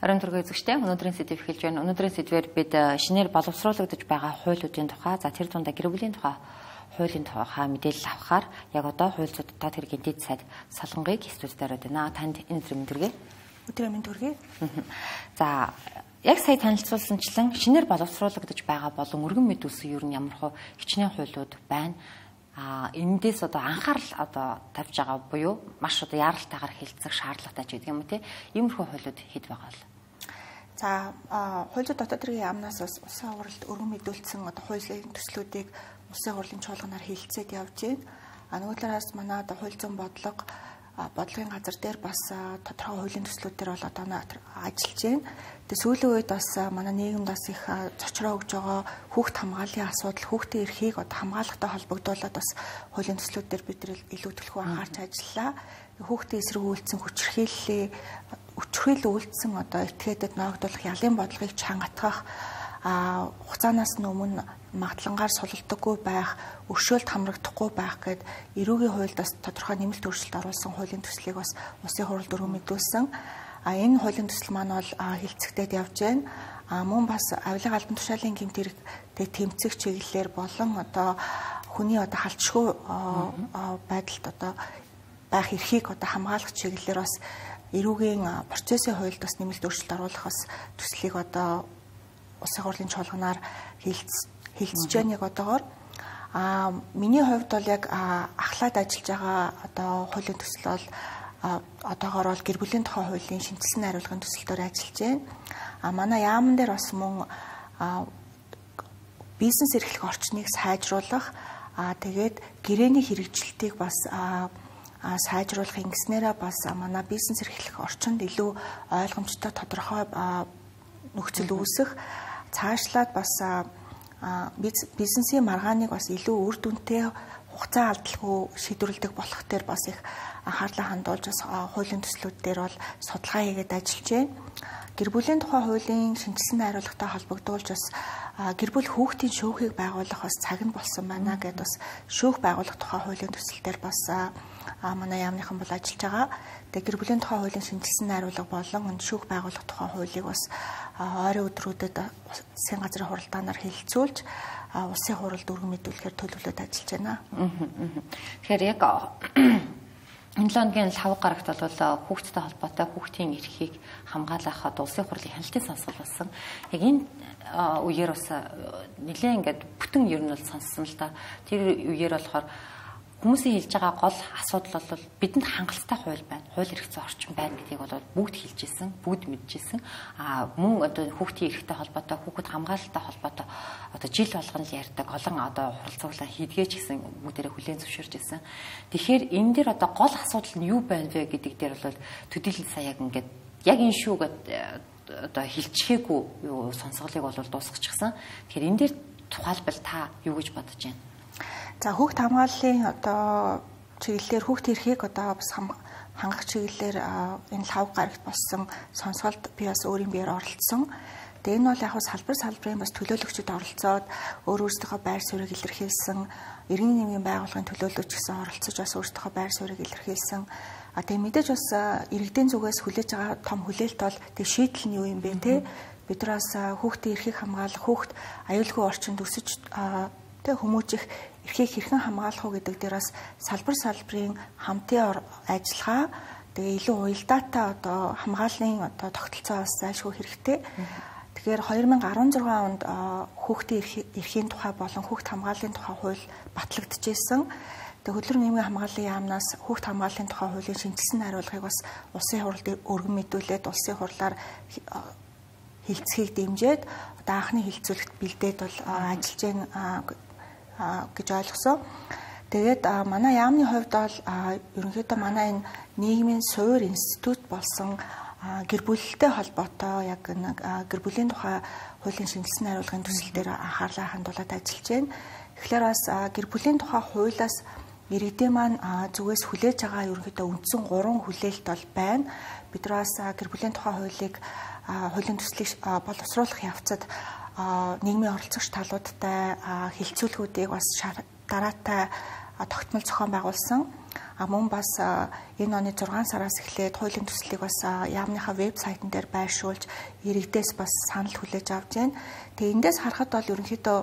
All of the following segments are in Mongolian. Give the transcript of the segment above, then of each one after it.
Орон төргөө эзэгчтэй өнөөдрийн сэдв эхэлж байна. Өнөөдрийн сэдвээр бид шинээр боловсруулагдаж байгаа хуулиудын тухай, за тэр дундаа гэр бүлийн тухай хуулийн тухай мэдээлэл авахаар яг одоо хууль зүйн дотоод хэргийн дэд сайд Солонгыг студид ороод байна. Танд энэ өдрийн мэндэргээ. Өдрийн мэнд хүргэе. За яг сая танилцуулсанчлан шинээр боловсруулагдаж байгаа болон өргөн мэд үсэн ер нь ямар хөө хичнээн хуулиуд байна. Эндээс одоо анхаарал одоо тавьж байгаа буюу маш одоо яаралтайгаар хэлцэх шаардлагатай ч гэдэг юм уу те. Иймэрхүү хуулиуд хэд байгаа л. За хууль зүйн дотоод хэргийн яамнаас бас улсын хурлд өргөн мэдүүлсэн одоо хуулийн төслүүдийг улсын хурлын чуулганаар хэлэлцээд явж байна. Нөгөө талаас манай одоо хууль зүйн бодлогын газар дээр бас тодорхой хуулийн төслүүд дээр бол одоо ажиллаж байна. Тэгээ сүүлийн үед бас манай нийгэмд бас их зочроо өгж байгаа хүүхд хамгааллын асуудал, хүүхдийн эрхийг одоо хамгаалахтай холбогдуулаад бас хуулийн төслүүд дээр бид илүү төлхөө анхаарч ажиллалаа. Хүүхдийн эсрэг үйлдсэн хүчирхийлэл үйлдсэн одоо этгээдэд ноогдуулах ялын бодлогыг чангатгах хугацаанаас өмнө магадлангаар сулалдаггүй байх, өршөөлт хамрагдахгүй байх гэд эрүүгийн хуульд бас тодорхой нэмэлт өөрчлөлт оруулсан хуулийн төслийг бас улсын хурлд өргөн мэдүүлсэн. Энэ хуулийн төсөл маань бол хилцэгдээд явж байна. Мөн бас авилга албан тушаалын гэмт хэрэгтэд тэмцэх чиглэлээр болон одоо хүний одоо халдшгүй байдалд одоо байх эрхийг одоо хамгаалах чиглэлээр бас эрүүгийн процессын хуульд бас нэмэлт өөрчлөлт оруулах бас төслийг одоо улсын хурлын чуулганаар хэлцэж байна яг одоогоор. Миний хувьд бол яг ахлаад ажиллаж байгаа одоо хуулийн төсөл бол одоогоор бол гэр бүлийн тухай хуулийн шинжилсэн хариулгын төсөлтөөр ажиллаж байна. Манай яамн дээр бас мөн бизнес эрхлэх орчныг сайжруулах, тэгээд гэрээний хэрэгжилтийг бас сайжруулах ингэснээрээ бас манай бизнес эрхлэх орчинд илүү ойлгомжтой тодорхой нөхцөл үүсэх, цаашлаад бас бизнесийн маргааныг бас илүү үр дүнтэй хугацаа алдалгүй шийдвэрлэдэг болох дээр бас их анхаарлаа хандуулж бас хуулийн төслүүд дээр бол судалгаа хийгээд ажиллаж байна. Гэр бүлийн тухай хуулийн шинжилсэн хариулгатай холбогдуулж бас гэр бүл хүүхдийн шүүхийг байгуулах бас цаг нь болсон байна гэдээ бас шүүх байгуулах тухай хуулийн төсөл дээр бас манай яамныхан бол ажиллаж байгаа. Тэгээ гэр бүлийн тухай хуулийн шинжилсэн хариулга болон шүүх байгуулах тухай хуулийг бас ойрын өдрүүдэд засгийн газрын хуралдаанаар хэлэлцүүлж улсын хурлд өргөн мэдүүлэхээр төлөвлөд ажиллаж байна. Тэгэхээр яг энэ 7 өдрийн 5 гарагт бол хүүхдтэй холбоотой хүүхдийн эрхийг хамгаалах улсын хурлын хяналтын сонсгол болсон. Яг энэ үеэр бас нэлээд ингээд бүтэн ер нь бол сонссон л да. Тэр үеэр болохоор хүмүүсийн хэлж байгаа гол асуудал бол бидэнд хангалттай хууль байна. Хууль эрх зүйн орчин байна гэдгийг бол бүгд хэлж ирсэн, бүгд мэдчихсэн. Мөн одоо хүүхдийн эрхтэй холбоотой, хүүхэд хамгаалалттай холбоотой одоо жил болгон л ярьдаг олон одоо хуралцуулаа хийдгээч гэсэн бүгдээрээ хүлээн зөвшөөрч ирсэн. Тэгэхээр энэ дээр одоо гол асуудал нь юу байна вэ гэдэг дээр бол төдийлөн саяг ингээд яг энэ шүү гэдэг одоо хэлчихээгүй юу сонсголыг бол дуусгачихсан. Тэгэхээр энэ дээр тухайлбал та юу гэж бодож байна? За хүүхд хамгааллын одоо чиглэлээр хүүхд эрхийг одоо бас хангах чиглэлээр энэ 5 гарагт болсон сонсголд би бас өөрийн биеэр оролцсон. Тэгээ энэ бол яг салбарын бас төлөөлөгчд оролцоод өөрсдийнхөө байр суурийг илэрхийлсэн, иргэний нийгмийн байгууллагын төлөөлөгч гэсэн оролцож бас өөрсдийнхөө байр суурийг илэрхийлсэн. Тэгээ мэдээж бас иргэдийн зүгээс хүлээж байгаа том хүлээлт бол тэг шийдэл нь юу юм бэ те? Бид нар бас хүүхдийн эрхийг хамгаалах, хүүхд аюулгүй орчинд өсөж тэг хүмүүжих эрхийг хэрхэн хамгаалах уу гэдэг дээр бас салбарын хамтын ажиллагаа тэгээ илүү уялдаатай одоо хамгааллын одоо тогтолцоо бас зайлшгүй хэрэгтэй. Тэгэхээр 2016 онд хүүхдийн эрхийн тухай болон хүүхд хамгааллын тухай хууль батлагдчихсэн. Тэгээ хөдөлмөрийн нийгмийн хамгааллын яамнаас хүүхд хамгааллын тухай хуулийн шинжилсэн хариулгыг бас улсын хурлд өргөн мэдүүлээд улсын хурлаар хэлцэхийг дэмжиж одоо анхны хэлцүүлэгт бэлдээд бол ажиллаж байна гэж ойлгосон. Тэгээд манай яамны хувьд бол ерөнхийдөө манай энэ нийгмийн суур институт болсон гэр бүлтэй холбоотой яг гэр бүлийн тухай хуулийн шинжилсэн хариулгын төсөл дээр анхаарлаа хандуулад ажиллаж байна. Тэгэхээр бас гэр бүлийн тухай хуулиас иргэдийн маань зүгээс хүлээж байгаа ерөнхийдөө үндсэн 3 хүлээлт бол байна. Бид нар бас гэр бүлийн тухай хуулийн төслийг боловсруулах явцад нийгмийн оролцогч талуудтай хэлцүүлгүүдийг бас дараатай тогтмол зохион байгуулсан. Мөн бас энэ оны 6 сараас эхлээд хуулийн төслийг бас яамныхаа вебсайтн дээр байршуулж иргэдээс бас санал хүлээж авч байна. Тэгээ эндээс харахад бол ерөнхийдөө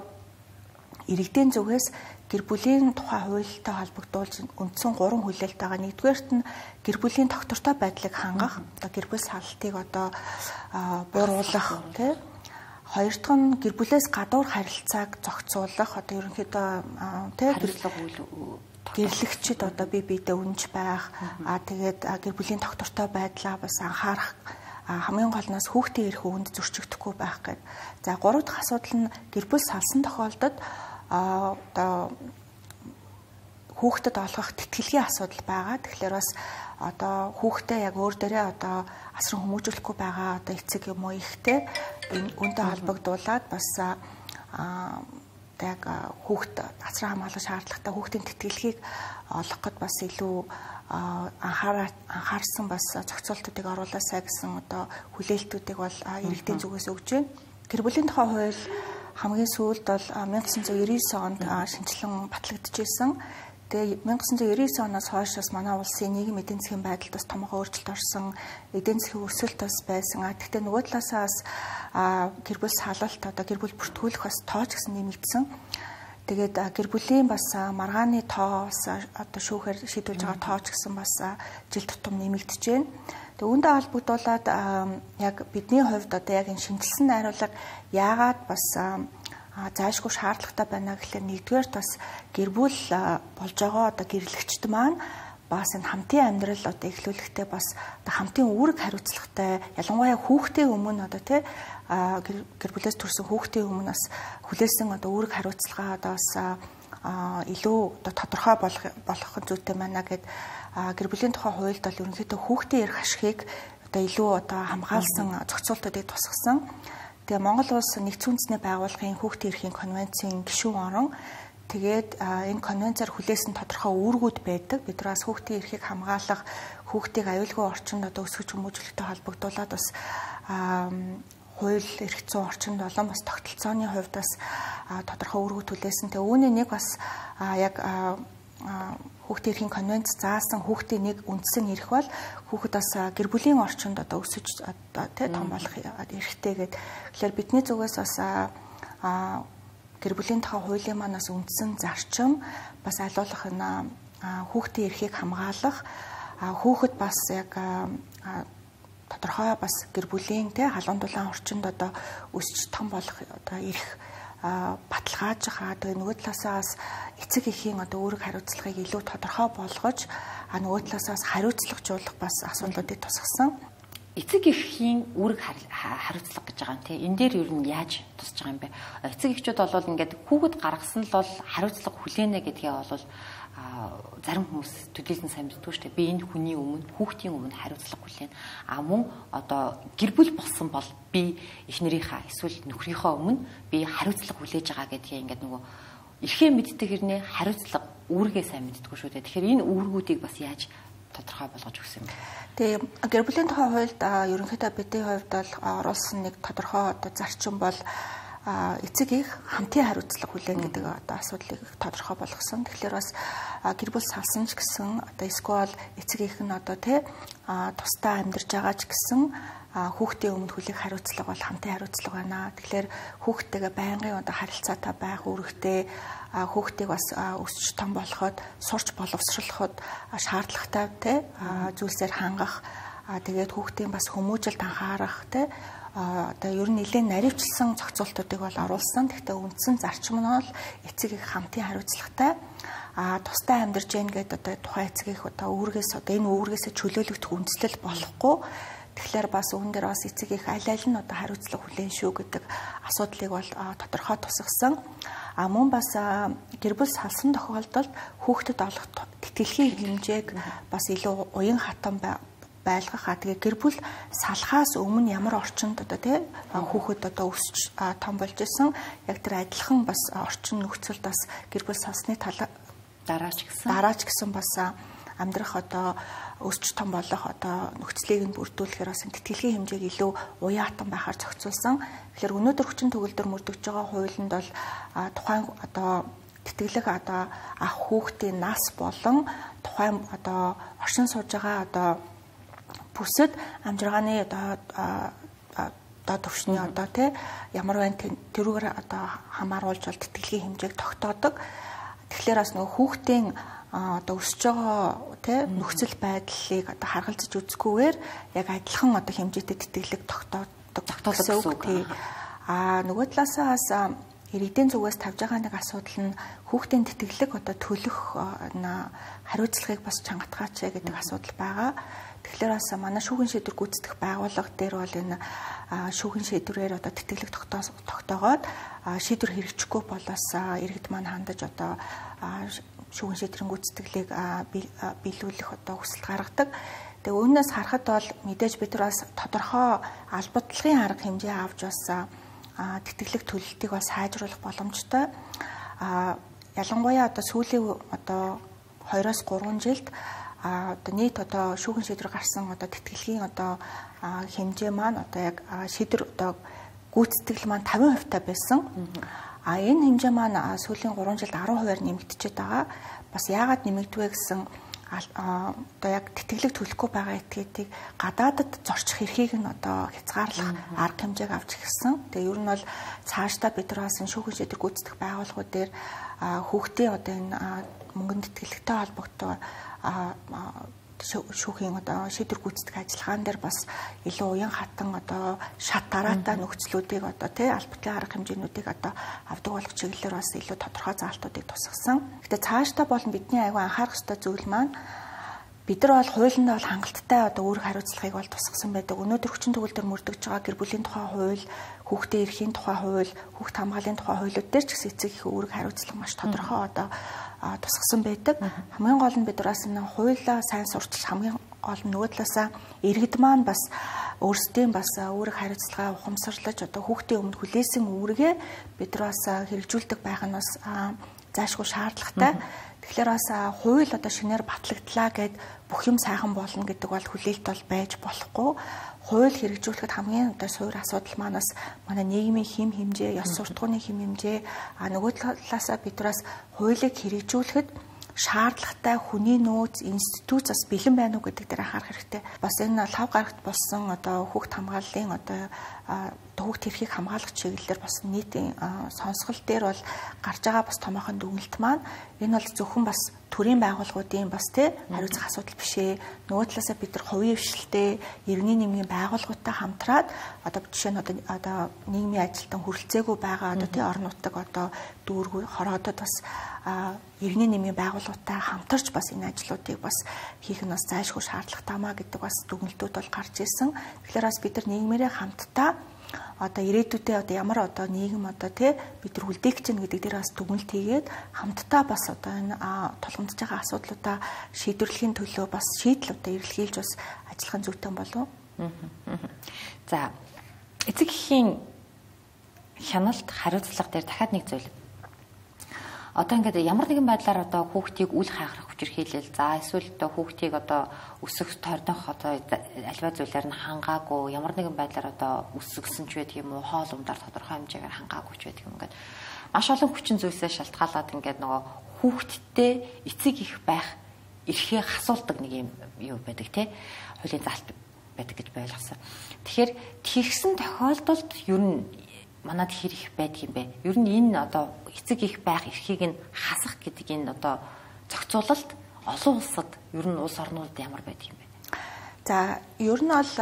иргэдийн зүгээс гэр бүлийн тухай хуультай холбогдуулж үндсэн 3 хүлээлт байгаа. Нэгдүгээрт нь гэр бүлийн тогтвортой байдлыг хангах, одоо гэр бүл салалтыг одоо бууруулах, тий. Хоёр дахь нь гэр бүлээс гадуур харилцааг зохицуулах, одоо ерөнхийдөө тий гэрлэгчид одоо бие биедээ үнж байх, тэгээд гэр бүлийн тогтвортой байдлаа бас анхаарах, хамгийн гол нь хүүхдийн эрх үүнд зөрчигдөхгүй байх гэдэг. За гурав дахь асуудал нь гэр бүл салсан тохиолдолд одоо хүүхдэд олгох тэтгэлгийн асуудал байгаа. Тэгэхээр бас одоо хүүхдээ яг өөр дээрээ одоо асран хүмүүжүүлэхгүй байгаа одоо эцэг юм уу ихтэй үүнтэй холбогдуулаад бас яг хүүхд асран хамгаалах шаардлагатай хүүхдийн тэтгэлгийг олгоход бас илүү анхаарсан бас зохицуултуудыг оруулаасай гэсэн одоо хүлээлтүүдийг бол иргэдийн зүгээс өгж байна. Гэр бүлийн тухай хууль хамгийн сүүлд бол 1999 онд шинжилэн батлагдчихсэн. Тэгээ 1999 оноос хойш бас манай улсын нийгмийн эдийн засгийн байдалд бас томоохон өөрчлөлт орсон, эдийн засгийн өсөлт бас байсан. Гэхдээ нөгөө талаасаа бас гэр бүл салалт одоо гэр бүл бүртгүүлэх бас тооч гэсэн нэмэгдсэн. Тэгээд гэр бүлийн бас маргааны тоо бас одоо шүүхээр шийдүүлж байгаа тооч гэсэн бас жил тутам нэмэгдэж байна. Тэгээ үүнтэй холбогдуулаад яг бидний хувьд одоо яг энэ шинжилсэн найруулга яагаад бас заашгүй шаардлагатай байна гэхлээр нэгдүгээр бас гэр бүл болж байгаа одоо гэрлэгчд маань бас энэ хамтын амьдрал одоо эхлүүлэхдээ бас одоо хамтын үүрэг хариуцлагатай ялангуяа хүүхдийн өмнө одоо тий гэр бүлээс төрсэн хүүхдийн өмнө бас хүлээсэн одоо үүрэг хариуцлага одоо бас илүү одоо тодорхой болох зүйтэй байна гэд гэр бүлийн тухай хуульд бол ерөнхийдөө хүүхдийн эрх ашигыг одоо илүү одоо хамгаалсан зохицуултуудыг тусгасан. Тэгээ Монгол улс нэгдсэн үндэсний байгууллагын хүүхдийн эрхийн конвенцийн гишүүн орон тэгээд энэ конвенцээр хүлээсэн тодорхой үүргүүд байдаг. Бид нар бас хүүхдийн эрхийг хамгаалах, хүүхдийг аюулгүй орчинд одоо өсгөж хүмүүжүүлэхтэй холбогдуулаад бас хууль эрх зүйн орчинд болон бас тогтолцооны хувьд бас тодорхой үүргүүд хүлээсэн. Тэгээ үүний нэг бас яг хүүхдийн эрхийн конвенц заасан хүүхдийн нэг үндсэн эрх бол хүүхэд бас гэр бүлийн орчинд одоо өсөж одоо тий том болох эрхтэй гэдэг. Тэгэхээр бидний зүгээс бас гэр бүлийн тухай хуулийн манаас үндсэн зарчим бас айлуулах энэ хүүхдийн эрхийг хамгаалах, хүүхэд бас яг тодорхой бас гэр бүлийн тий халуун дулаан орчинд одоо өсч том болох одоо эрх баталгааж байгаа. Тэгээ нөгөө талаасаа бас эцэг эхийн одоо үүрэг хариуцлагыг илүү тодорхой болгож нөгөө талаасаа хариуцлагажуулах бас асуудлуудыг тусгасан. Эцэг эхийн үүрэг хариуцлага гэж байгаа юм тий. Энэ дээр ер нь яаж тусч байгаа юм бэ? Эцэг эхчүүд бол ингээд хүүхэд гаргасан л бол хариуцлага хүлээнэ гэдгээ бол зарим хүмүүс төдийлөн сайн мэддэг шүү дээ. Би энэ хүний өмнө хүүхдийн өмнө хариуцлага хүлээн. Мөн одоо гэр бүл болсон бол би эхнэрийнхаа эсвэл нөхрийнхөө өмнө би хариуцлага хүлээж байгаа гэдгийг ингээд нөгөө эрхээ мэддэг хэрнээ хариуцлага үүргээ сайн мэддэггүй шүү дээ. Тэгэхээр энэ үүргүүдийг бас яаж тодорхой болгож өгсөн юм бэ? Тэгээ гэр бүлийн тухай хуульд ерөнхийдөө бидний хувьд бол оруулсан нэг тодорхой одоо зарчим бол эцэг их хамтын хариуцлага хүлээн гэдэг одоо асуудлыг тодорхой болгосон. Тэгэхээр бас гэр бүл салсан ч гэсэн одоо эсвэл эцэг их нь одоо тий тусдаа амьдарч байгаа ч гэсэн хүүхдийн өмнө хүлээх хариуцлага бол хамтын хариуцлага байна. Тэгэхээр хүүхдтэйгээ байнгын одоо харилцаатай байх үүрэгтэй, хүүхдийг бас өсч том болоход сурч боловсруулахад шаардлагатай тий зүйлсээр хангах, тэгээд хүүхдийн бас хүмүүжилд анхаарах тий одоо ер нь нэлээд наривчлсан зохицуултуудыг бол оруулсан. Гэхдээ үндсэн зарчим нь бол эцэг их хамтын хариуцлагатай тусдаа амьдарч гэн гэдэг одоо тухайн эцэг их одоо үүргээс одоо энэ үүргээсээ чөлөөлөгдөх үндслэл болохгүй. Тэгэхээр бас үүн дээр бас эцэг их аль аль нь одоо хариуцлага хүлээн шүү гэдэг асуудлыг бол тодорхой тусгасан. Мөн бас гэр бүл салсан тохиолдолд хүүхдэд олох тэтгэлгийн хэмжээг бас илүү уян хатан байлгах. Тэгээ гэр бүл салахаас өмнө ямар орчинд одоо тий хүүхэд одоо өсч том болж исэн яг тэр адилхан бас орчин нөхцөлд бас гэр бүл салсны дараач гэсэн бас амьдрах одоо өсч том болох одоо нөхцөлийг нь бүрдүүлэхээр бас тэтгэлгийн хэмжээг илүү уяатан байхаар зохицуулсан. Тэгэхээр өнөөдөр хүчин төгөлдөр мөрдөгж байгаа хуулинд бол тухайн одоо тэтгэлэг одоо ах хүүхдийн нас болон тухайн одоо оршин сууж байгаа одоо бүсэд амжиргааны одоо төвшний одоо тий ямар байна тэрүүгээр одоо хамааруулж бол тэтгэлгийн хэмжээг тогтоодог. Тэгэхээр бас нөгөө хүүхдийн одоо өсөж байгаа тий нөхцөл байдлыг одоо харгалзаж үзэхгүйгээр яг адилхан одоо хэмжээтэй тэтгэлэг тогтоодог гэсэн үг. Нөгөө талаасаа бас иргэдийн зүгээс тавьж байгаа нэг асуудал нь хүүхдийн тэтгэлэг одоо төлөх хариуцлагыг бас чангатгаач гэдэг асуудал байгаа. Тэгэхээр бас манай шүүгэн шийдвэр гүйцэтгэх байгууллага дээр бол энэ шүүгэн шийдвэрээр одоо тэтгэлэг тогтоогоод шийдвэр хэрэгжихгүй бол бас иргэд маань хандаж одоо шүүгэн шийдвэрийн гүйцэтгэлийг биелүүлэх одоо хүсэлт гаргадаг. Тэгээ үүнээс харахад бол мэдээж бид нар бас тодорхой албадлагын арга хэмжээ авч бас тэтгэлэг төлөлтийг бас сайжруулах боломжтой. Ялангуяа одоо сүүлийн одоо 2-3 жилд одоо нийт одоо шүүгэн шийдвэр гарсан одоо тэтгэлгийн одоо хэмжээ маань одоо яг шийдвэр одоо гүйцэтгэл маань 50% та байсан. Энэ хэмжээ маань сүүлийн 3 жилд 10%-аар нэмэгдчихэд байгаа. Бас яагаад нэмэгдвэ гэсэн одоо яг тэтгэлэг төлөхгүй байгаа этгээдийг гадаадад зорчих эрхийг нь одоо хязгаарлах арга хэмжээг авч ирсэн. Тэгээ ер нь бол цаашдаа бид нар бас шүүгэн шийдвэр гүйцэтгэх байгууллагууд дээр хүүхдийн одоо энэ мөнгөнд тэтгэлэгтэй холбогдсон шүүхийн одоо шийдвэр гүйцэтгэх ажиллагаан дээр бас илүү уян хатан одоо шат дараатай нөхцлүүдийг одоо тий албатлын арга хэмжээнүүдийг одоо авдаг болох чиглэлээр бас илүү тодорхой заалтуудыг тусгасан. Гэтэ цаашдаа болон бидний аягүй анхаарах ёстой зүйл маань бид нар бол хуулинд бол хангалттай одоо үүрэг хариуцлагыг бол тусгасан байдаг. Өнөөдөр хүчин төгөлдөр мөрдөгж байгаа гэр бүлийн тухай хууль, хүүхдийн эрхийн тухай хууль, хүүхд хамгааллын тухай хуулиуд дээр ч гэсэн эцэг их үүрэг хариуцлага маш тодорхой одоо тусгасан байдаг. Хамгийн гол нь бид нараас энэ хуулиа сайн сурчилж хамгийн гол нь нөгөө талаасаа иргэд маань бас өөрсдийн бас үүрэг хариуцлагаа ухамсарлаж одоо хүүхдийн өмнө хүлээсэн үүргээ бид нараас хэрэгжүүлдэг байх нь бас заашгүй шаардлагатай. Тэгэхээр бас хууль одоо шинээр батлагдлаа гэд бүх юм сайхан болно гэдэг бол хүлээлт бол байж болохгүй. Хууль хэрэгжүүлэхэд хамгийн одоо суур асуудал манаас манай нийгмийн хэм хэмжээ, ёс суртахууны хэм хэмжээ нөгөө талаасаа бидраас хуулийг хэрэгжүүлэхэд шаардлагатай хүний нөөц институт бас бэлэн байна уу гэдэг дээр анхаарах хэрэгтэй. Бас энэ лав гарагт болсон одоо хүүхд хамгааллын одоо хүүхд эрхийг хамгаалах чиглэлээр бас нийтийн сонсгол дээр бол гарч байгаа бас томоохон дүгнэлт маань энэ бол зөвхөн бас төрийн байгууллагуудын бас тий хариуцах асуудал биш ээ. Нөгөө талаасаа бид нар хувийн хвшилтэй иргэний нэмгийн байгууллагуудтай хамтраад одоо жишээ нь одоо нийгмийн ажилтан хүрэлцээгүй байгаа одоо тий орон нутаг одоо дүүргүй хороодод бас иргэний нэмгийн байгууллагуудтай хамтарч бас энэ ажлуудыг бас хийх нь бас зайлшгүй шаардлагатай маа гэдэг бас дүгнэлтүүд бол гарч ирсэн. Тэгэхээр бас бид нар нийгмээрээ хамтдаа одоо ирээдүйдээ одоо ямар одоо нийгэм одоо тий бид нар үлдээх чинь гэдэг дээр бас дүгнэлт хийгээд хамтдаа бас одоо энэ тулгамдж байгаа асуудлуудаа шийдвэрлэхийн төлөө бас шийдэл одоо эрэлхийлж бас ажиллах зүйтэй болов. За эцэг эхийн хяналт хариуцлага дээр дахиад нэг зүйл. Одоо ингээд ямар нэгэн байдлаар одоо хүүхдийг үл хайхрах хүчирхийлэл за эсвэл одоо хүүхдийг одоо өсөх тойрдох одоо альва зүйлээр нь хангаагүй ямар нэгэн байдлаар одоо өсгсөн ч байдаг юм уу хоол ундаар тодорхой хэмжээгээр хангаагүй ч байдаг юм ингээд маш олон хүчин зүйлсээ шалтгаалаад ингээд нөгөө хүүхдтэй эцэг их байх эрхээ хасуулдаг нэг юм юу байдаг те хуулийн заалт байдаг гэж ойлгосон. Тэгэхээр тэгсэн тохиолдолд ер нь манад хэр их байдаг юм бэ? Ер нь энэ одоо эцэг их байх эрхийг нь хасах гэдэг энэ одоо зохицуулалт олон улсад ер нь улс орнууд ямар байдаг юм бэ? За ер нь бол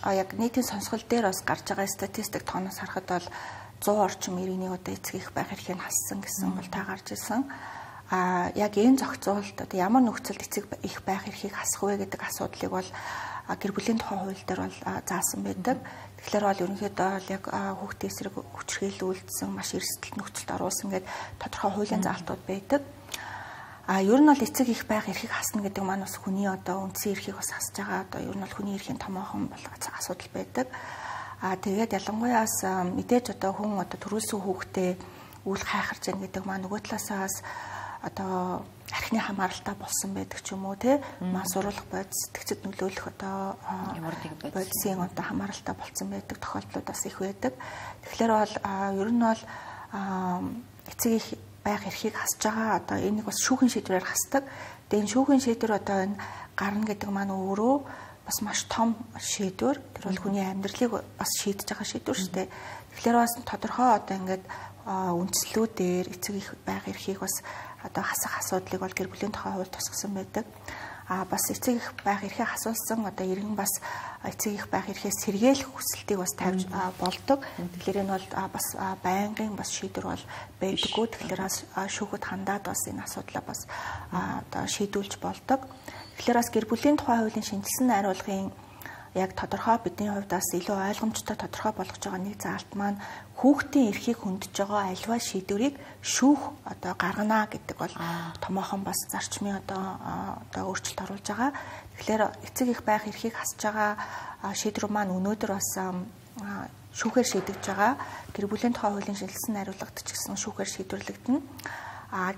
яг нийтийн сонсгол дээр бас гарч байгаа статистик тооноос харахад бол 100 орчим иргэний одоо эцэг их байх эрхийг хассан гэсэн бол та гарч ирсэн. Яг энэ зохицуулалт одоо ямар нөхцөлд эцэг их байх эрхийг хасах вэ гэдэг асуудлыг бол гэр бүлийн тухай хууль дээр бол заасан байдаг. Тэгэхээр бол ерөнхийдөө яг хүүхдийн эсрэг хүчирхийлүүлсэн маш эрсдэлт нөхцөлд оруулсан гэдэг тодорхой хуулийн заалтууд байдаг. Ер нь бол эцэг их байх эрхийг хасна гэдэг маань бас хүний одоо үндсэн эрхийг бас хасж байгаа. Одоо ер нь бол хүний эрхийн томоохон асуудал байдаг. Тэгээд ялангуяа бас мэдээж одоо хүн одоо төрүүлсэн хүүхдээ үл хайхарч яах гэдэг маань нөгөө талаасаа бас одоо архины хамааралтай болсон байдаг ч юм уу те маш сурвалж бодис сэтгцэд нөлөөлөх одоо бодисын одоо хамааралтай болсон байдаг тохиолдлууд бас их байдаг. Тэгэхээр бол ер нь бол эцэг их байх эрхийг хасж байгаа. Одоо энийг бас шүүхийн шийдвэрээр хасдаг. Тэгээ энэ шүүхийн шийдвэр одоо энэ гарна гэдэг маань өөрөө бас маш том шийдвэр. Тэр бол хүний амьдралыг бас шийдэж байгаа шийдвэр шүү дээ. Тэгэхээр бас тодорхой одоо ингээд үндслүүдээр эцэг их байх эрхийг бас одоо хасах асуудлыг бол гэр бүлийн тухай хууль тусгасан байдаг. Бас эцэг их байх эрхээ асуусан одоо иргэн бас эцэг их байх эрхээс сэргээх хүсэлтийг бас тавьж болдог. Тэгэхээр энэ бол бас байнгын бас шийдвэр бол байдаггүй. Тэгэхээр шүүхэд хандаад бас энэ асуудлаа бас одоо шийдүүлж болдог. Тэгэхээр бас гэр бүлийн тухай хуулийн шинжилсэн найруулгын яг тодорхой бидний хувьд бас илүү ойлгомжтой тодорхой болгож байгаа нэг заалт маань хүүхдийн эрхийг хөндөж байгаа альва шийдвэрийг шүүх одоо гаргана гэдэг бол томоохон бас зарчмын одоо өөрчлөлт оруулж байгаа. Тэгэхээр эцэг их байх эрхийг хасж байгаа шийдвэр маань өнөөдөр бас шүүхээр шийдэгдэж байгаа. Гэр бүлийн тухай хуулийн шинжилсэн найруулгад ч гэсэн шүүхээр шийдвэрлэгдэнэ.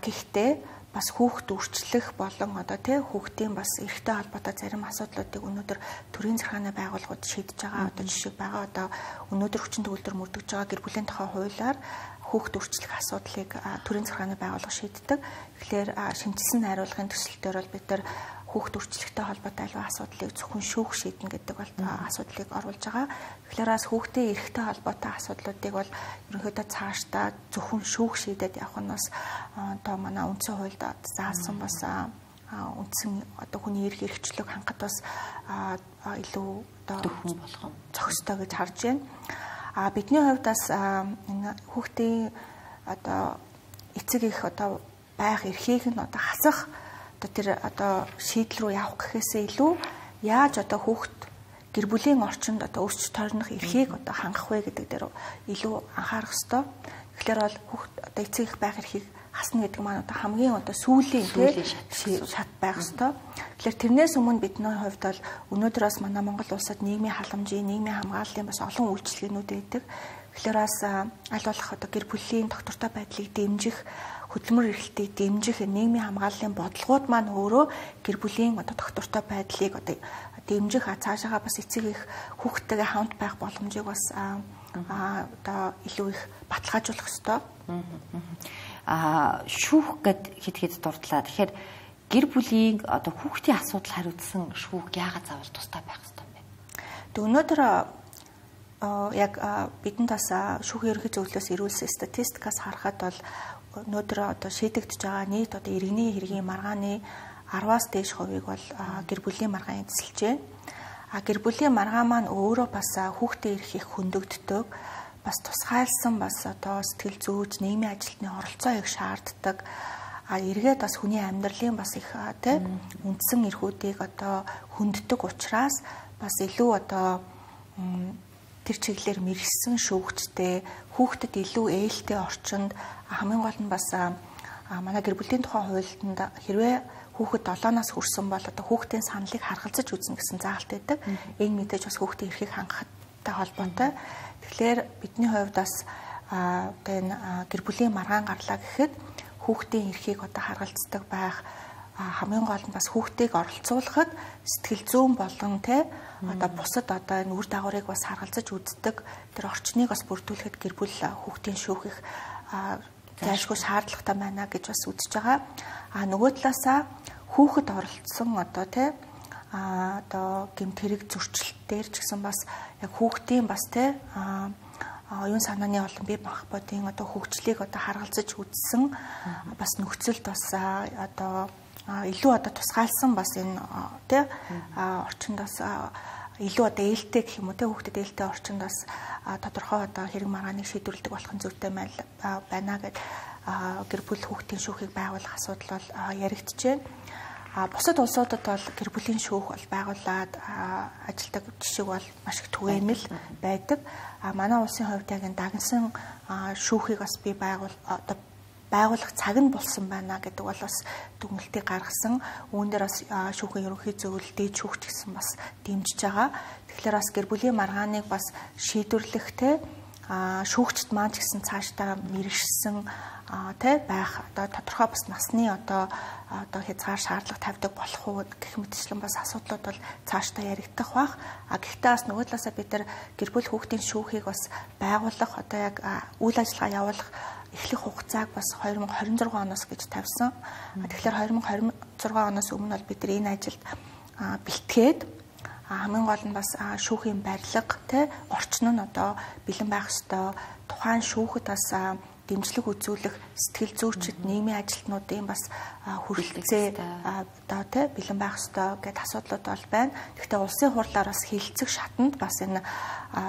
Гэхдээ бас хүүхд үрчлэх болон одоо хүүхдийн бас эрхтэй холбоотой зарим асуудлуудыг өнөөдөр төрийн захиргааны байгууллагууд шийдэж байгаа. Одоо жишээ байгаа одоо өнөөдөр хүчин төгөлдөр мөрдөж байгаа гэр бүлийн тухай хуулиар хүүхд үрчлэх асуудлыг төрийн захиргааны байгууллага шийддэг. Тэгэхээр шинжилсэн найруулгын төсөлтөөр бол бид нар хүүхд үрчлэхтэй холбоотой альва асуудлыг зөвхөн шүүх шийднэ гэдэг бол асуудлыг оруулж байгаа. Тэгэхээр бас хүүхдийн эрхтэй холбоотой асуудлуудыг бол ерөнхийдөө цаашдаа зөвхөн шүүх шийдээд явах нь бас одоо манай үндсэн хуульд заасан бас үндсэн одоо хүний эрх эрхчлөлийг хангахад бас илүү одоо зөвхөн болгоом зохистой гэж харж байна. Бидний хувьд бас энэ хүүхдийн одоо эцэг их одоо байх эрхийг нь одоо хасах тэр одоо шийдэл рүү явах гэхээсээ илүү яаж одоо хүүхд гэр бүлийн орчинд одоо өсч тойрнох эрхийг одоо хангах вэ гэдэг дээр илүү анхаарах ёстой. Тэгэхээр бол хүүхд одоо эцэг их байх эрхийг хасна гэдэг маань одоо хамгийн одоо сүүлийн шат байх ёстой. Тэгэхээр тэрнээс өмнө бидний хувьд бол өнөөдөр бас манай Монгол улсад нийгмийн халамжийн, нийгмийн хамгааллын бас олон үйлчилгээнүүд байдаг. Тэгэхээр бас аль болох одоо гэр бүлийн доктортой байдлыг дэмжих, хөдөлмөр эрхлэлтийг дэмжих нийгмийн хамгааллын бодлогууд маань өөрөө гэр бүлийн одоо доктортой байдлыг одоо дэмжих цаашаага бас эцэг их хүүхдтэйгээ хамт байх боломжийг бас одоо илүү их баталгаажуулах ёстой. Шүүх гэд хэд дурдлаа. Тэгэхээр гэр бүлийн одоо хүүхдийн асуудал хариуцсан шүүх яагаад заавал тустай байх ёстой юм бэ? Тэг өнөөдөр яг бидэнд бас шүүхийн ерөнхий зөвлөлөөс ирүүлсэн статистикаас харахад бол өнөөдөр одоо шийдэгдэж байгаа нийт одоо иргэний хэргийн маргааны 10-аас дээш хувийг бол гэр бүлийн маргаан эзэлж байна. Гэр бүлийн маргаан маань өөрөө бас хүүхдийн эрх их хөндөгддөг. Бас тусгайлсан бас одоо сэтгэл зүйч, нийгмийн ажилтны оролцоо их шаарддаг. Эргээд бас хүний амьдралын бас их үндсэн эрхүүдийг одоо хөнддөг учраас бас илүү одоо тэр чиглэлээр мэргэсэн шүүгчтэй хүүхдэд илүү ээлтэй орчинд хамгийн гол нь бас манай гэр бүлийн тухай хуульд хэрвээ хүүхэд 7-наас хүрсэн бол одоо хүүхдийн саналыг харгалзаж үзнэ гэсэн заалт байдаг. Энэ мэдээж бас хүүхдийн эрхийг хангахтай холбоотой. Тэгэхээр бидний хувьд бас одоо энэ гэр бүлийн маргаан гарлаа гэхэд хүүхдийн эрхийг одоо харгалздаг байх хамгийн гол нь бас хүүхдийг оролцуулахад сэтгэл зүйн болон одоо бусад одоо энэ үр дагаврыг бас харгалзаж үздэг тэр орчныг бас бүрдүүлэхэд гэр бүл хүүхдийн шүүх их зайлшгүй шаардлагатай байна гэж бас үзэж байгаа. Нөгөө талаасаа хүүхэд оролцсон одоо одоо гэмт хэрэг зөрчилтээр ч гэсэн бас яг хүүхдийн бас оюун санааны болон бие махбодын одоо хөгжлийг одоо харгалзаж үзсэн бас нөхцөлд бас одоо илүү одоо тусгаалсан бас энэ орчинд бас илүү одоо ээлтэй гэх юм уу хүүхдэд ээлтэй орчинд бас тодорхой одоо хэрэг маргааныг шийдвэрлэдэг болох нь зүйтэй байна гэд гэр бүл хүүхдийн шүүхийг байгуулах асуудал бол яригдчихэв. Бусад улсуудад бол гэр бүлийн шүүх бол байгуулад ажилдаг жишээ бол маш их түгээмэл байдаг. Манай улсын хувьд яг энэ дагнсан шүүхийг бас би байгуулах цаг нь болсон байна гэдэг бол бас дүгнэлтийг гаргасан. Үүн дээр бас шүүхийн ерөнхий зөвлөл дээд шүүгч гэсэн бас дэмжиж байгаа. Тэгэхээр бас гэр бүлийн маргааныг бас шийдвэрлэхтэй шүүгчд маань ч гэсэн цаашдаа мэрэгшсэн байх одоо тодорхой бас насны одоо хязгаар шаардлага тавьдаг болох уу гэх мэтчлэн бас асуудлууд бол цаашдаа яригдах бах. Гэхдээ бас нөгөө талаасаа бид нар гэр бүл хүүхдийн шүүхийг бас байгуулах одоо яг үйл ажиллагаа явуулах эхлэх хугацааг бас 2026 оноос гэж тавьсан. Тэгэхээр 2026 оноос өмнө бол бид энэ ажилд бэлтгээд хамгийн гол нь бас шүүхийн барилга орчин нь одоо бэлэн байх ёстой. Тухайн шүүхэд бас дэмжлэг үзүүлэх сэтгэл зүйчид нийгмийн ажилтнуудын бас хүрэлцээ одоо бэлэн байх ёстой гэдэг асуудлууд бол байна. Гэхдээ улсын хурлаар бас хилцэх шатанд бас энэ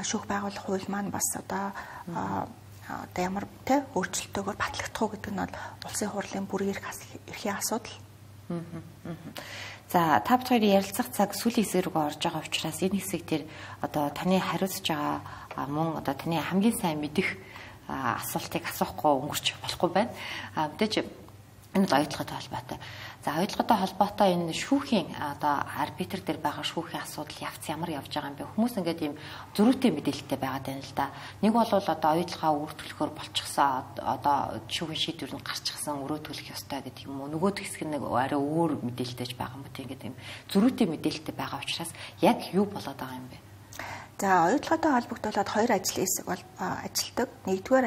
шүүх байгуулах хууль маань бас одоо ямар өөрчлөлтөөр батлагдах уу гэдэг нь бол улсын хурлын бүрийн эрхийн асуудал. За та бүхэн ярилцах цаг сүүлийн хэсэг рүү орж байгаа учраас энэ хэсэг дээр одоо таны хариуцж байгаа мөн одоо таны хамгийн сайн мэдих асуултыг асуухгүй өнгөрч болохгүй байна. Мэдээж энэ бол оюутлагатай холбоотой. За оюутлагатай холбоотой энэ шүүхийн одоо арбитр дээр байгаа шүүхийн асуудал явц ямар явж байгаа юм бэ? Хүмүүс ингээд ийм зөрүүтэй мэдээлэлтэй байгаад байна л да. Нэг бол одоо оюутлагаа үргэлжлөхөөр болчихсон одоо шүүхийн шийдвэр нь гарчихсан өрөөтгөх ёстой гэдэг юм уу? Нөгөөд хэсэг нэг арай өөр мэдээлэлтэйж байгаа юм уу? Ингээд ийм зөрүүтэй мэдээлэлтэй байгаа учраас яг юу болоод байгаа юм бэ? За оюутлагатай холбогдуулаад хоёр ажлын хэсэг бол ажилтдаг. Нэгдүгээр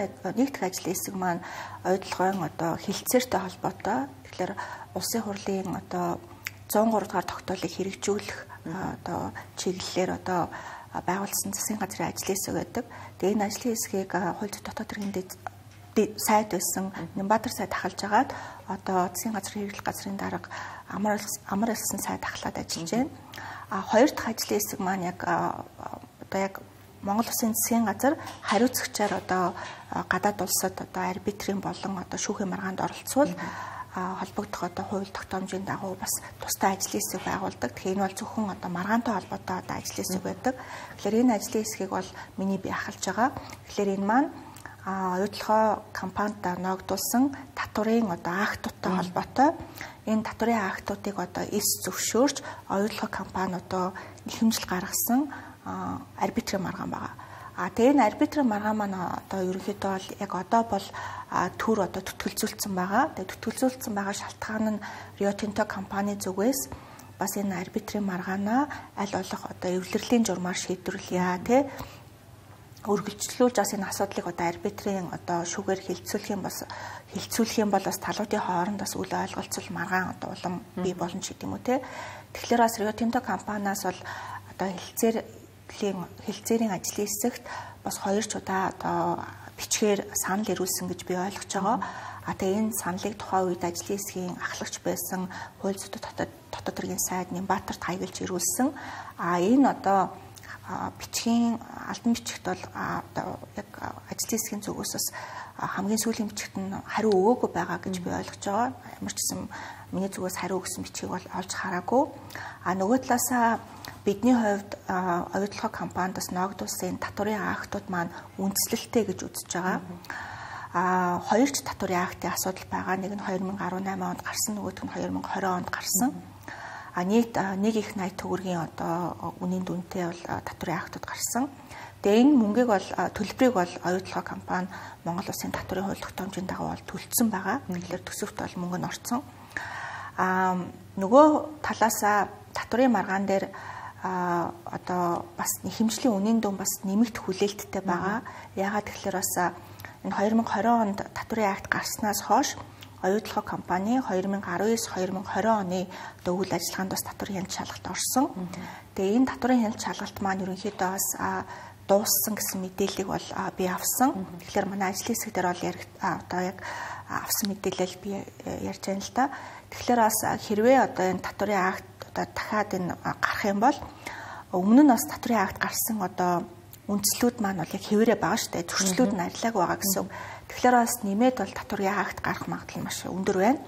ажлын хэсэг маань оюутлагын одоо хилцээртэй холбоотой. Тэгэхээр улсын хурлын одоо 103 дугаар тогтоолыг хэрэгжүүлэх одоо чиглэлээр одоо байгуулсан засгийн газрын ажлын хэсэг байдаг. Тэгээ энэ ажлын хэсгийг хууль зүйн дотоод хэргийн сайд байсан Нямбатар сайд ахалж агаад одоо засгийн газрын хэрэглэх газрын дарга амар элсэн сайд ахлаад ажиллаж байна. Хоёр дахь ажлын хэсэг маань яг одоо яг Монгол Улсын засгийн газар хариуцагчаар одоо гадаад улсад одоо арбитрийн болон одоо шүүхийн маргаанд оролцвол холбогдох одоо хууль тогтоомжийн дагуу бас тусдаа ажлын хэсэг байгуулдаг. Тэгэхээр энэ бол зөвхөн одоо маргаантай холбоотой одоо ажлын хэсэг байдаг. Тэгэхээр энэ ажлын хэсгийг бол миний бие ахалж байгаа. Тэгэхээр энэ маань оюутлогоо компанид ногдуулсан татврын одоо актуудтай холбоотой. Энэ татврын актуудыг одоо эс зөвшөөрч оюутлогоо компани одоо нэхэмжил гаргасан арбитрийн маргаан байгаа. Тэгээ энэ арбитрийн маргаан маань одоо ерөнхийдөө бол яг одоо бол төр одоо төтгөлзүүлсэн байгаа. Тэгээ төтгөлзүүлсэн байгаа шалтгаан нь Rio Tinto компани зүгээс бас энэ арбитрийн маргаанаа аль болох одоо эвлэрлийн журмаар шийдвэрлэе үргэлжлүүлж бас энэ асуудлыг одоо арбитрийн одоо шүүгээр хилцүүлэх юм бол бас талуудын хооронд бас үл ойлголцол маргаан одоо улам бий болно ч гэдэм үү те. Тэгэхээр бас Rio Tinto компаниас бол одоо хилцээрийн ажлын хэсэгт бас 2 ч удаа одоо бичгээр санал ирүүлсэн гэж би ойлгож байгаа. Тэгээ энэ саналыг тухайн үед ажлын хэсгийн ахлагч байсан хууль зүйн дотоод хэргийн сайд Нямбатарт хаягуулж ирүүлсэн. Энэ одоо бичгийн албан бичигт бол одоо яг ажлын хэсгийн зүгээс бас хамгийн сүүлийн бичигт нь хариу өгөөгүй байгаа гэж би ойлгож байгаа. Ямар ч гэсэн миний зүгээс хариу өгсөн бичгийг бол олж хараагүй. Нөгөө талаасаа бидний хувьд оюутлогоо компаниас ногдуулсан татврын актууд маань үндэслэлтэй гэж үзэж байгаа. Хоёр ч татврын актын асуудал байгаа. Нэг нь 2018 онд гарсан, нөгөөх нь 2020 онд гарсан. Нийт 1.80 төгрөгийн одоо үнийн дүнтэй бол татврын актууд гарсан. Тэгээ энэ мөнгийг бол төлбөрийг бол оюутлогоо компани Монгол Улсын татврын хууль тогтоомжийн дагуу бол төлсөн байгаа. Тэгэхээр төсөвт бол мөнгө нь орсон. Нөгөө талаасаа татврын маргаан дээр одоо бас нэхэмжлийн үнийн дүн бас нэмэгдэх хүлээлттэй байгаа. Яагаад тэгэхээр бас энэ 2020 онд татврын акт гарснаас хойш оюутлогоо компани 2019-2020 оны одоо үйл ажиллагаанд бас татврын хяналт шалгалт орсон. Тэгээ энэ татврын хяналт шалгалт маань ерөнхийдөө бас дууссан гэсэн мэдээллийг бол би авсан. Тэгэхээр манай ажлын хэсэг дээр бол одоо яг авсан мэдээлэл би ярьж байна л да. Тэгэхээр бас хэрвээ одоо энэ татврын акт одоо дахиад энэ гарах юм бол өмнө нь бас татврын акт гарсан одоо үндслүүд маань бол яг хэвээрээ байгаа шүү дээ. Зөрчлүүд нь арилаагүй байгаа гэсэн. Тэгэхээр бас нэмээд бол татврын акт гарах магадлал маш өндөр байна.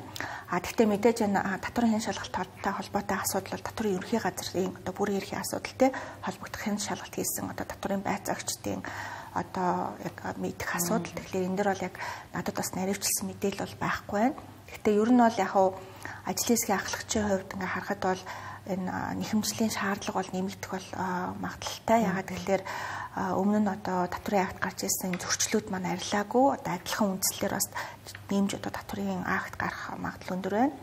Гэхдээ мэдээж энэ татврын хяналт шалгалттай холбоотой асуудал бол татврын ерөнхий газрын одоо бүрийн эрхийн асуудалтай холбогдох хяналт шалгалт хийсэн одоо татврын байцаагчдын одоо яг мэдэх асуудал. Тэгэхээр энэ дэр бол яг надад бас наривчлсан мэдээлэл бол байхгүй байна. Гэхдээ ер нь бол яг ажлын хэсгийн ахлагчийн хувьд ингээ харахад бол энэ нэхэмжлийн шаардлага бол нэмэгдэх бол магадлалтай. Ягаад гэвэл өмнө нь одоо татврын акт гарч ирсэн зөрчлүүд маань арилаагүй. Одоо адилхан үндслэлээр бас нэмж одоо татврын акт гарах магадлал өндөр байна.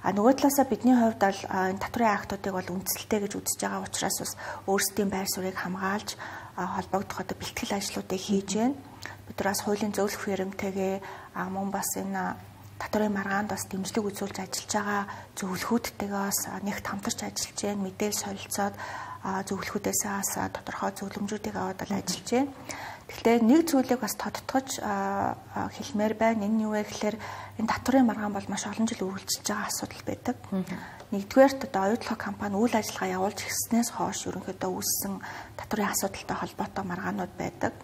Нөгөө талаасаа бидний хувьд бол энэ татврын актуудыг бол үндсэлтэй гэж үзэж байгаа учраас бас өөрсдийн байр суурийг хамгаалж холбогдох одоо бэлтгэл ажлуудыг хийж байна. Бид нар бас хуулийн зөвлөх фирмтэйгээ мөн бас энэ татварын маргаанд бас дэмжлэг үзүүлж ажиллаж байгаа зөвлөхүүдтэйгээ бас нэгт хамтарч ажиллаж байна. Мэдээлэл солилцоод зөвлөхүүдээс бас тодорхой зөвлөмжүүдийг аваад ажиллаж байна. Тэгэхээр нэг зүйлийг бас тодтогч хэлмээр байна. Энэ юу вэ гэхээр энэ татварын маргаан бол маш олон жил үргэлжилж байгаа асуудал байдаг. Нэгдүгээрт одоо оюутлах компани үйл ажиллагаа явуулж ирснээс хойш ерөнхийдөө үүссэн татварын асуудалтай холбоотой маргаанууд байдаг.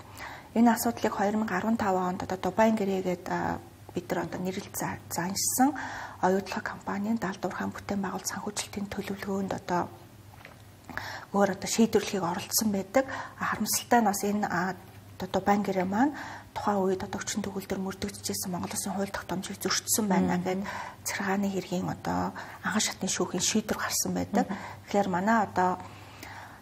Энэ асуудлыг 2015 онд одоо Дубайн гэрээгээд бид нар одоо нэрлэл заанчсан оюутлах компанийн Далд уурхайн бүтээн байгуулалт санхүүжилтийн төлөвлөгөөнд одоо өөр одоо шийдвэрлэхийг оролцсон байдаг. Харамсалтай нь бас энэ одоо Дубайн гэрээ маань тухайн үед одоо өчнө төгөлдөр мөрдөгдөжсэн Монгол Улсын хууль тогтоомжийг зөрчсөн байна гэдэг цэргааны хэргийн одоо анхан шатны шүүхийн шийдвэр гарсан байдаг. Тэгэхээр манай одоо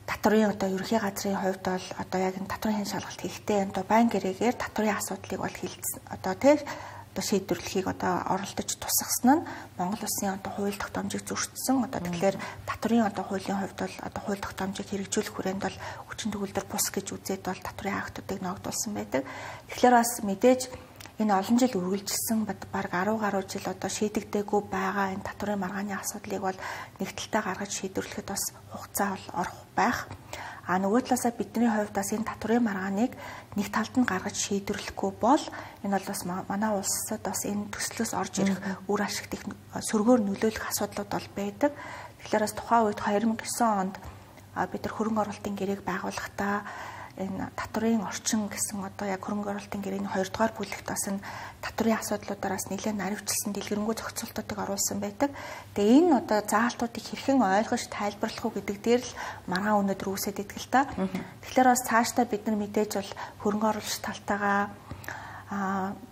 татварын одоо ерөнхий газрын хувьд бол одоо яг энэ татварын хэн шалгалт хийхдээ Дубайн гэрээгээр татварын асуудлыг бол хилцсэн одоо шийдвэрлэхийг одоо оролдож тусгасан нь Монгол Улсын одоо хууль тогтоомжийг зөрчсөн. Одоо тэгэхээр татварын одоо хуулийн хувьд бол одоо хууль тогтоомжийг хэрэгжүүлэх хүрээнд бол хүчин төгөлдөр бус гэж үзээд бол татварын актуудыг ногдуулсан байдаг. Тэгэхээр бас мэдээж энэ олон жил үргэлжилсэн бараг 10 гаруй жил одоо шийдэгдээгүй байгаа энэ татварын маргааны асуудлыг бол нэгдэлтэй гаргаж шийдвэрлэхэд бас хугацаа бол орох байх. Нөгөө талаасаа бидний хувьд бас энэ татварын маргааныг нэг талд нь гаргаж шийдвэрлэхгүй бол энэ бол бас манай улсад бас энэ төслөөс орж ирэх үр ашигт их сөргөөр нөлөөлөх асуудлууд бол байдаг. Тэгэхээр бас тухайн үед 2009 онд бид нар хөрөнгө оруулалтын гэрээг байгуулахдаа энэ татварын орчин гэсэн одоо яг хөрөнгө оруулалтын гэрээний 2 дугаар бүлэгт бас энэ татварын асуудлуудаараас нэлээд наривчлсан дэлгэрэнгүй зохицуултуудыг оруулсан байдаг. Тэгээ энэ одоо заалтуудыг хэрхэн ойлгож тайлбарлах уу гэдэг дээр л маргаан өнөөдөр үүсээд идэх л та. Тэгэхээр бас цаашдаа бид нар мэдээж бол хөрөнгө оруулагч талтайгаа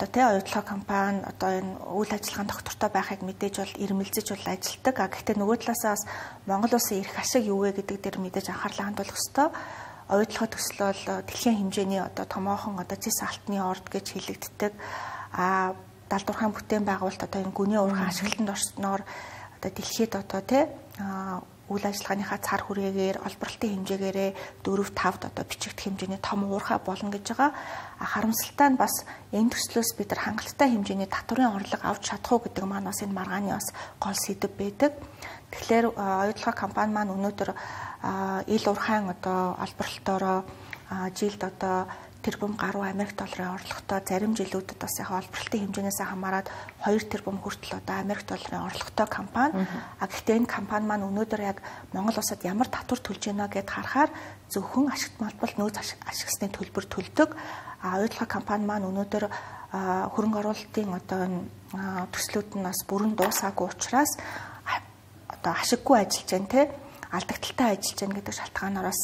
одоо оюутлах компани одоо энэ үйл ажиллагааны доктортой байхыг мэдээж бол ирмэлзэж бол ажилтдаг. Гэхдээ нөгөө талаасаа бас Монгол Улсын эрх ашиг юу вэ гэдэг дээр мэдээж анхаарлаа хандуулах ёстой. Оюутлах төсөл бол дэлхийн хэмжээний одоо томоохон одоо зэс алтны орд гэж хэлэгддэг. Далд уурхайн бүтээн байгуулалт одоо энэ гүний уурхайн ашиглалтанд орсноор одоо дэлхийд одоо үйл ажиллагааныхаа цар хүрээгээр олборлолтын хэмжээгээрээ 4-5-д одоо бичигдэх хэмжээний том уурхай болно гэж байгаа. Харамсалтай нь бас энэ төслөөс бид нар хангалттай хэмжээний татварын орлого авч чадах уу гэдэг маань бас энэ маргааны бас гол сэдэв байдаг. Тэгэхээр оюутлах компани маань өнөөдөр ил уурхайн одоо олборлолтоороо жилд одоо тэрбум гаруй Америк долларын орлоготой зарим жилүүдэд бас яг олборлолтын хэмжээнээс хамаарат 2 тэрбум хүртэл одоо Америк долларын орлоготой компани. Гэхдээ энэ компани маань өнөөдөр яг Монгол улсад ямар татвар төлж байна гэд харахаар зөвхөн ашигт малбал нөөц ашигсны төлбөр төлдөг. Оюутлах компани маань өнөөдөр хөрөнгө оруулалтын одоо төслүүд нь бас бүрэн дуусаагүй учраас одоо ашиггүй ажиллаж байна те алдагдaltaй ажиллаж байна гэдэг шалтгаанаар бас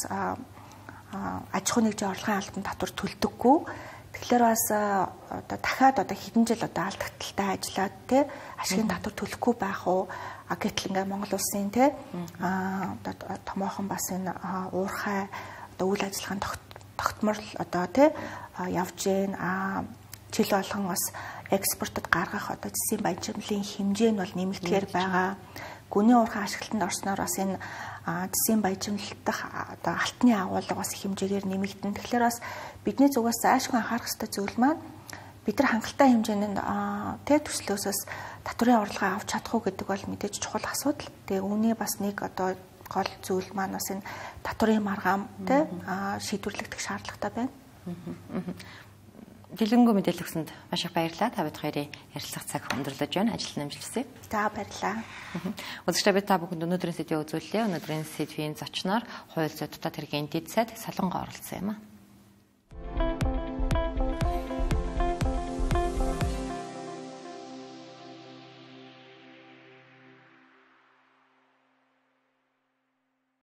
аж ахуй нэгжийн орлогын албан татвар төлдөггүй. Тэгэхээр бас одоо дахиад одоо хэдэн жил одоо алдагдaltaй ажиллаад те ашигын татвар төлөхгүй байх уу? Гэтэл ингээ Монгол улсын те одоо томоохон бас энэ уурхай одоо үйл ажиллагааны тогтмол одоо те явж гин жил болгон бас экспортод гаргах одоо зэсийн баяжмлын хэмжээ нь бол нэмэгдэхээр байгаа. Гүний уурхай ашиглалтанд орсноор бас энэ зэсийн баяжмлалтах одоо алтны агуулга бас хэмжээгээр нэмэгдэн. Тэгэхээр бас бидний зүгээс заашгүй анхаарах ёстой зүйл маань бид нар хангалттай хэмжээнд төслөөсөөс татварын орлогоо авч чадах уу гэдэг бол мэдээж чухал асуудал. Тэгээ үүний бас нэг одоо гол зүйл маань бас энэ татварын маргаан шийдвэрлэгдэх шаардлагатай байна. Дэлгэнгүй мэдээлэл өгсөнд маш их баярлалаа. Та бид хоёрын ярилцлага цаг өндөрлөж байна. Ажил нэмжлэсэй. За баярлалаа. Үзэгчдээ бид та бүхэнд өнөөдрийн сэдвийг үзүүллээ. Өнөөдрийн сэдвийн зочноор хууль зүйн дотоод хэргийн дэд сайд Солонгоо оролцсон юм а.